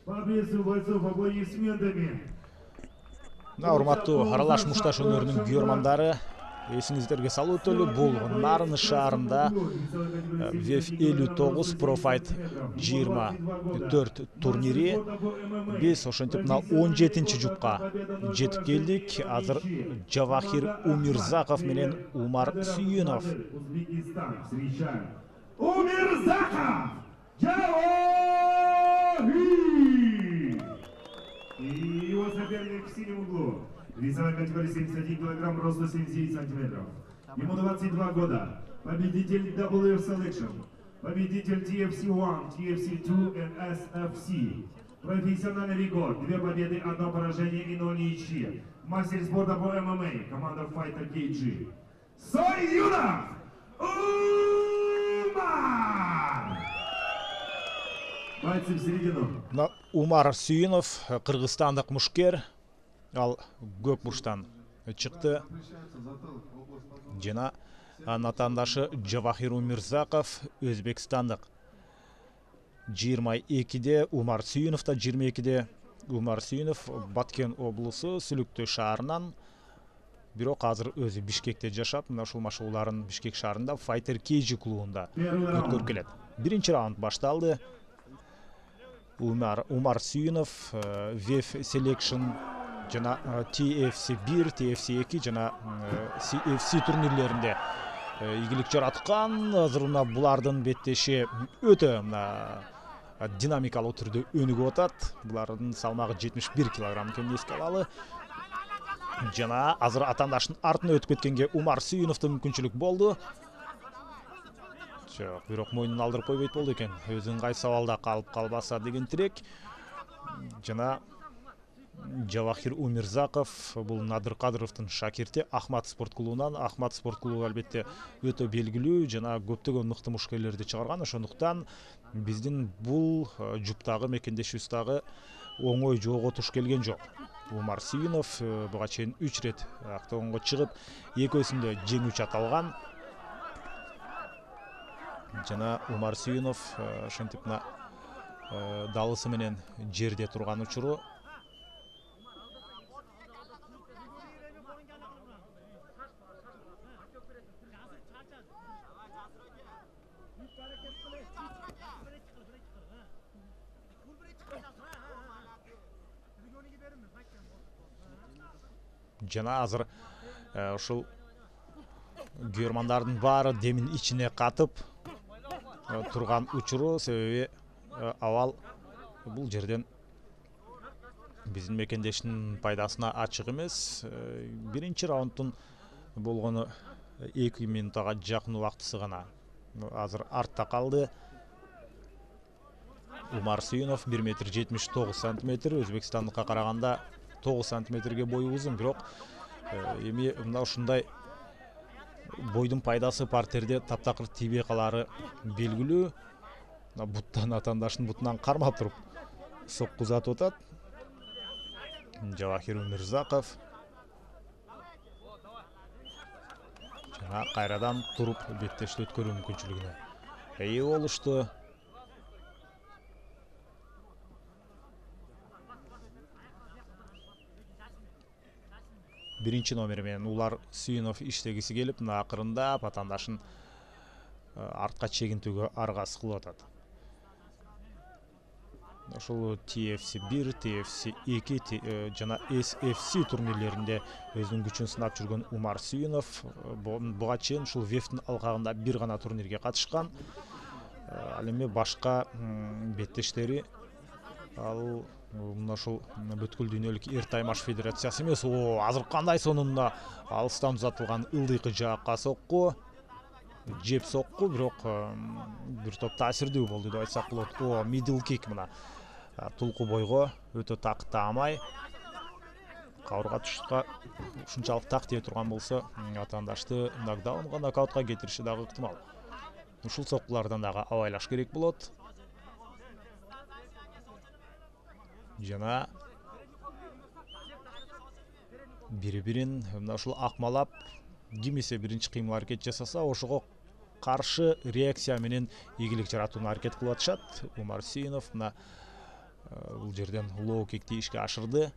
Победу бойцов аплодисментами. Урматтуу аралаш мушташ өнөрүнүн күйөрмандары, эсиңиздерге салуу өтөлү, бул Нарын шаарында ВЕФ 59 Профайт 24 турнири. Биз ошентип 17-жупка жетип келдик. Азыр Жавахир Умирзаков менен Умар Сүйүнов. Умирзаков! Жавахир! И его соперник в синем углу. Весовая категория 71 килограмм, роста 79 сантиметров. Ему 22 года. Победитель WF Selection. Победитель TFC-1, TFC-2 и SFC. Профессиональный рекорд. 2 победы, 1 поражение и 0 ничьи. Мастер спорта по ММА. Команда Fighter KG. Сойюнов! Умар! Бойцы в середину. Умар Сүйүнов, кыргызстандык мушкер. Ал көк бурчтан чыкты. Жана атаандашы Жавахир Умирзаков, өзбекстандык. 22-де Умар Сүйүнов да 22-де. Умар Сүйүнов Баткен облусу Сүлүктөө шаарынан, бирок азыр өзү Бишкекте жашап, мына ушул машыгууларын Бишкек шаарында Fighter KG клубунда өткөрүп келет. Биринчи раунд башталды. Умар Сүйүнов ВЕФ Selection жана TFC-1, TFC-2 жана CFC турнирлеринде ийгилик жараткан. Азыр булардын беттеши өтө динамикалуу түрдө өнүгүп атат. Булардын салмагы 71 килограмм экенин эске алалы. Жана азыр атаандаштын артына өтүп кеткенге Умар Сүйүновдо мүмкүнчүлүк болду. Жок, бирок мойнун алдырып койбойт болду экен. Өзүн кайсы абалда калып калбаса деген тилек. Жана Жавахир Умирзаков бул Надыр Кадыровдун шакирти Ахмат спорт клубунан. Ахмат спорт клубу албетте өтө белгилүү жана көптөгөн мыкты мушкерлерди чыгарган. Ошондуктан биздин бул жуптагы мекендешибиз дагы оңой жоого туш келген жок. Умар Сүйүнов буга чейин 3 рет октогонго чыгып, экөөсүндө жеңүүчү аталган. Жана Умар Сүйүнов ошентип далысы менен жерде турган учуру. Жана азыр ушул күйөрмандардын баары демин ичине катып турган учуру, себеби абал бул жерден биздин мекендештин пайдасына ачык эмес. Биринчи раундтун болгону 2 минутага жакын убактысы гана азыр артта калды. Умар Сүйүнов 1,79 сантиметр, Өзбекстандыкка караганда 9 сантиметрге бою узун, бирок эми мына ушундай бойдун пайдасы партерде таптакыр тийбей калары белгилүү. Буттан атаандаштын бутунан кармап туруп сокку узатып атат Жавахир Умирзаков. Жана кайрадан туруп беттешти өткөрүү мүмкүнчүлүгүнө ээ болушту. Биринчи номер менен Улар Сүйүнов иштегиси келип, акырында атаандашын артка чегинтүүгө аргасы кылып атат. Ошол TFC-1, TFC-2 жана SFC турнирлеринде өзүнүн күчүн сынап жүргөн Умар Сүйүнов буга чейин ушул ВЕФтин алкагында бир гана турнирге катышкан. Ал эми башка беттештери ал мына ушул бүткүл дүйнөлүк эр таймаш федерациясы эмес. Азыр кандай сонун алыстан узатылган ылдыйкы жаакка сокку, жеп сокку, бирок бир топ таасирдүү болду деп айтсак болот. Middle kick мына тулку бойго өтө так таамай кабырга тушка ушунчалык так тие турган болсо атаандашты нокдаунга, нокаутка кетириши дагы ыктымал. Ушул соккулардан дагы абайлаш керек болот. Жана бири-бирин мына ушул акмалап, кимисе биринчи кыймыл аракет жасаса, ошого каршы реакция менен ийгилик жаратууна аракет кылып атышат. Умар Сүйүнов мына бул жерден лоу кикти ишке ашырды.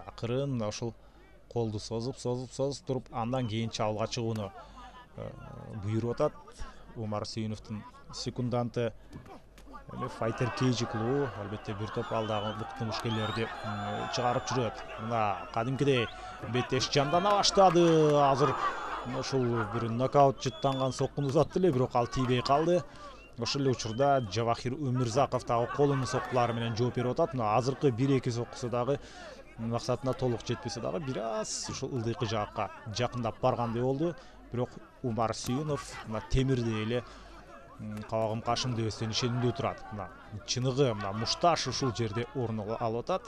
Акырын ошол колду созуп туруп, андан кийин чабуулга чыгууну буйруп атат. Умар Сүйүновдун секунданты Fighter Cage клубу албетте бир топ алдагы мыкты мушкелерди чыгарып жүрөт. Мына кадимкидей беттеш жандана баштады. Азыр ошол бир нокаут жыттанган соккуну узатты эле, бирок ал тийбей калды. Ошол эле учурда Жавахир Өмүрзаков дагы колунун соккулары менен жооп берип атат. Мына азыркы 1-2 соккусу дагы максатына толук жетпесе дагы бир аз ушул ылдыйкы жаакка жакындап баргандай болду. Бирок Умар Сүйүнов мына темирдей эле кабагым кашым дебестен ишенимдүү турат. Мына чыныгы мына мушташ ушул жерде орун алып атат.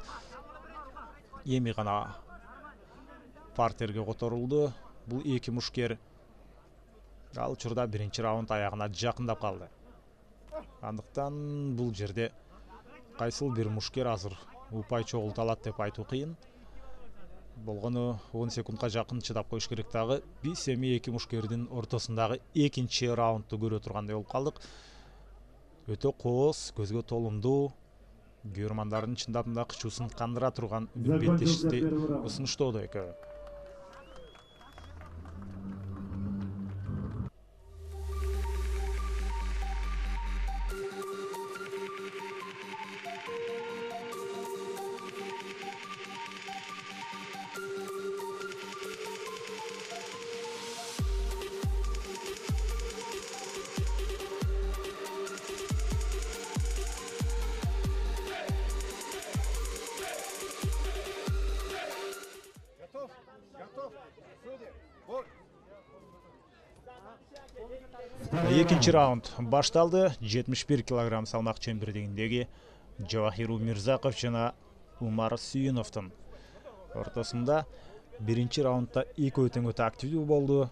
Эми гана партерге которулду. Бул эки мушкер. Ал учурда биринчи раунд аягына жакындап калды. Андыктан бул жерде кайсыл бир мушкер азыр упай чогулта алат деп айтуу кыйын. Болгону 10 секундка жакын чыдап коюш керек дагы. Биз эми эки мушкердин ортосундагы экинчи раундду көрө тургандай болуп калдык. Өтө кооз, көзгө толумдуу, көрөрмандардын чындап да кычуусун кандыра турган беттешти усунуштоодо экөө. Экинчи раунд башталды. 71 кг салмак чембирдигиндеги Жавахир Өмүрзаков жана Умар Сүйүновдун ортосунда. Биринчи раундда экөө тең өтө активдүү болду.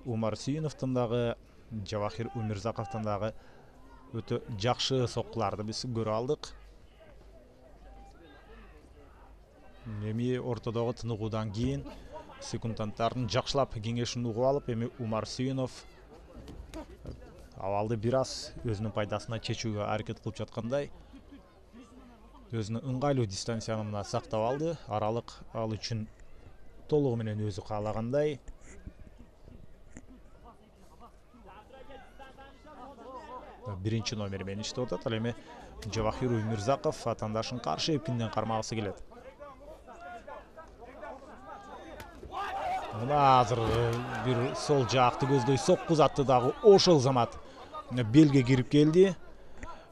Умар Сүйүновдун дагы Жавахир Өмүрзаковдун дагы өтө жакшы соккуларды биз көрө алдык. Эми ортодогу тыныгуудан кийин секунданттардын жакшылап кеңешин угуп алып, эми Умар Сүйүнов абалды бир аз өзүнүн пайдасына чечүүгө аракет кылып жаткандай. Өзүнө ыңгайлуу дистанцияны мына сактап алды. Аралык ал үчүн толугу менен өзү каалагандай. Биринчи номер менен иштеп атат. Ал эми Жавахир Өмүрзаков атаандашын каршы эпкинден кармагысы келет. Мына азыр бир сол жакты көздөй сокку узатты дагы ошол замат белге кирип келди.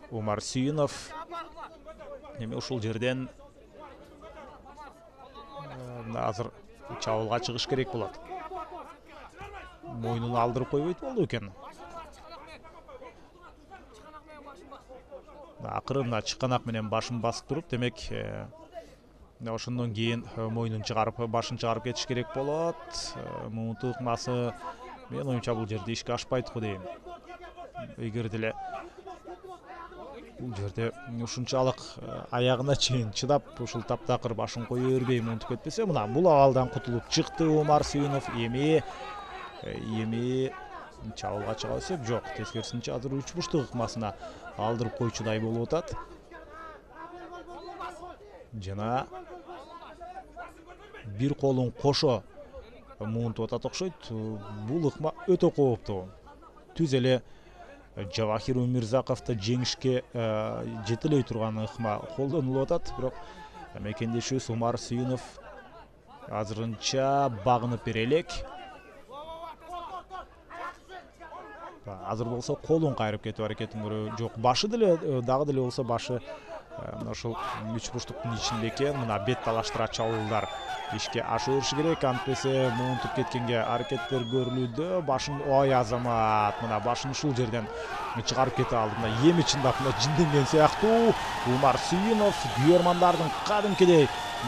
Умар Сүйүнов эми ушул жерден азыр чабуулга чыгыш керек болот. Мойнун алдырып койбойт болду экен. Акырын чыканак менен башын басып туруп, демек ошондон кийин мойнун чыгарып, башын чыгарып кетиш керек болот. Муунту ыкмасы мен оюмча бул жерде ишке ашпайт го дейм. Эгер деле бул жерде ушунчалык аягына чейин чыдап, ушул таптакыр башын кое бербей муунтуп кетпесе, мына бул абалдан кутулуп чыкты Умар Сүйүнов. Эми чабуулга чыга берсек, жок, тескерисинче азыр үч буштук ыкмасына алдырып койчудай болуп атат. Жана бир колун кошо муунтуп атат окшойт. Бул ыкма өтө кооптуу. Түз эле Жавахир Өмүрзаковду жеңишке жетелей турган ыкма колдонулуп атат. Бирок мекендешибиз Умар Сүйүнов азырынча багынып бере элек. Азыр болсо колун кайрып кетип аракетин көрө. Жок, башы деле дагы деле болсо башы ошол үч бурчтуктун ичинде экен. Мына бет талаштыра чабуулдар ишке аша бериши керек. Антпесе муунтуп кеткенге аракеттер көрүлүүдө. Башын ой азамат, мына башын ушул жерден чыгарып кете алды. Мына эми чындап жинденген сыяктуу. Умар Сүйүнов күйөрмандардын кадимкидей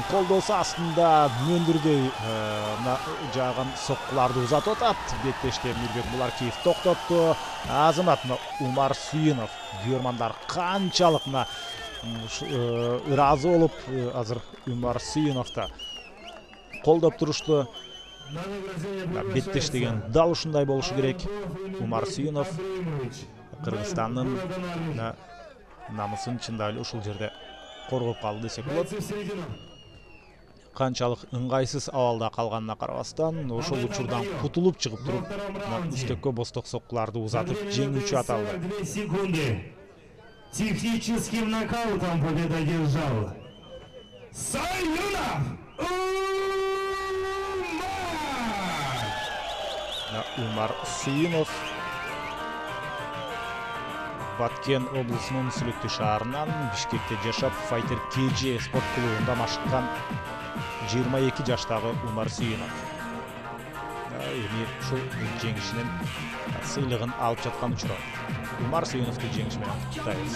колдоосу астында мөндүрдөй мына жааган соккуларды узатып атат. Беттеште Мирбек Буларкиев токтотту. Азамат мына Умар Сүйүнов күйөрмандар канчалык мына ыраазы болуп азыр Умар Сүйүновду колдоп турушту. Беттеш деген дал ушундай болушу керек. Умар Сүйүнов Кыргызстандын намысын чындап эле ушул жерде коргоп калды десек болот. Канчалык ыңгайсыз абалда калганына карабастан, ошол учурдан кутулуп чыгып туруп, үстөккө босток соккуларды узатып жеңүүчү аталды. 2 секунды. Техническим нокаутом победа держал Саюнов Умар Сыйынов Баткен облусунун Сүлүктүү шаарынан Бишкекте жашап, Fighter KG спорт клубунда машыккан 22 жаштагы Умар Сыйынов. Эми ушул жеңишинин сыйлыгын алып жаткан учурда Умар Сыйыновду жеңиш менен куттуктайбыз.